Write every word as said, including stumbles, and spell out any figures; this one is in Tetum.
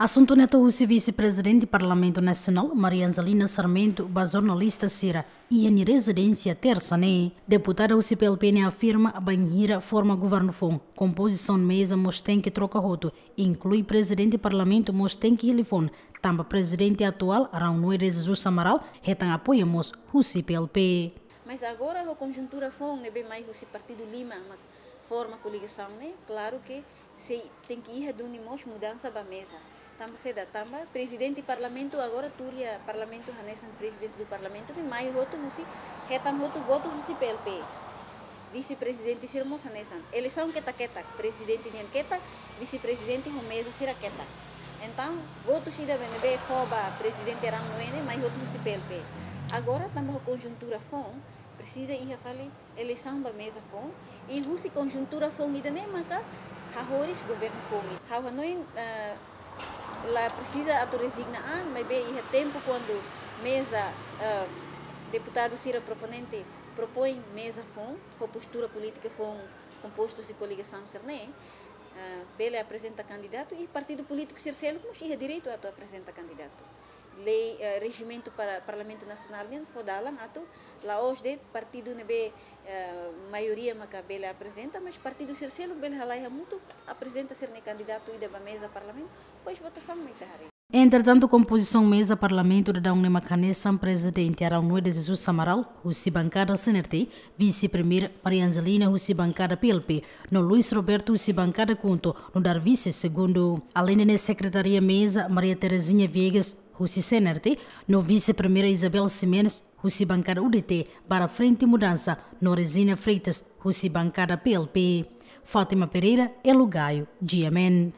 Asuntu ne'e hato'o husi Vise-Prezidente Parlamentu Nasionál, Maria Angelina Sarmento, ba jornalista sira iha nia rezidénsia, tersa ne'e. Deputada husi P L P ne'e afirma bainhira forma governu foun, kompozisaun meza mós tenke troka hotu, inklui Prezidente Parlamentu mós tenke hili foun, tanba Prezidente atuál, Rão Noé de Jesus Amaral, hetan apoiu mós husi P L P. Mas agora ho konjuntura foun ne'ebé mai husi partidu lima mak forma koligasaun ne'e, klaru ke sei tenke iha duni mós mudansa ba meza. Tanba saida? Tanba Prezidente Parlamentu agora tuir iha Parlamentu hanesan Prezidente do Parlamentu ne'e mai hotu husi, hetan hotu votu husi P L P. Vise-Prezidente sira mós hanesan. Eleisaun ketak-ketak, Prezidente nian ketak, Vise-Prezidente ho meza sira ketak. Entaun, votu sira ne'ebé fó ba Prezidente Rão Noé ne'e mai hotu husi P L P. Agora, tanba ho konjuntura foun, presiza iha fali eleisaun ba meza foun, i husi konjuntura foun ida-ne'e maka hahoris governu foun. Ha'u hanoin, eh, la presiza atu rezigna an, maibé iha tempu kuandu meza, eh, deputadu sira proponente propoin meza foun, ho postura polítika foun kompostu husi koligasaun sira-ne'e, eh, bele aprezenta kandidatu, i partidu polítiku sira seluk mós iha direitu atu aprezenta kandidatu. Lei, eh, rejimentu para Parlamentu Nasionál nian fó dalan atu la'ós de'it partidu ne'ebé, eh, maioria maka bele aprezenta, mas partidu sira seluk bele halai hamutuk, aprezenta sira-nia kandidatu ida ba meza Parlamentu, depois votasaun mai ita haree. Entretantu, kompozisaun meza Parlamentu daudaun ne'e mak hanesan Prezidente Rão Noé de Jesus Amaral, husi bankada C N R T, Vise-Primeira, Maria Angelina, husi bankada P L P, no Luis Roberto, husi bankada KHUNTO, nu'udar vise segundu. Aleinde ne'e, Sekretaria Meza, Maria Terezinha Viegas, husi C N R T, no Vise-Primeira, Isabel Ximenes, husi bankada U D T, barra Frente Mudansa, no Regina Freitas, husi bankada P L P. Fátima Pereira, Elo Gaio, G M N.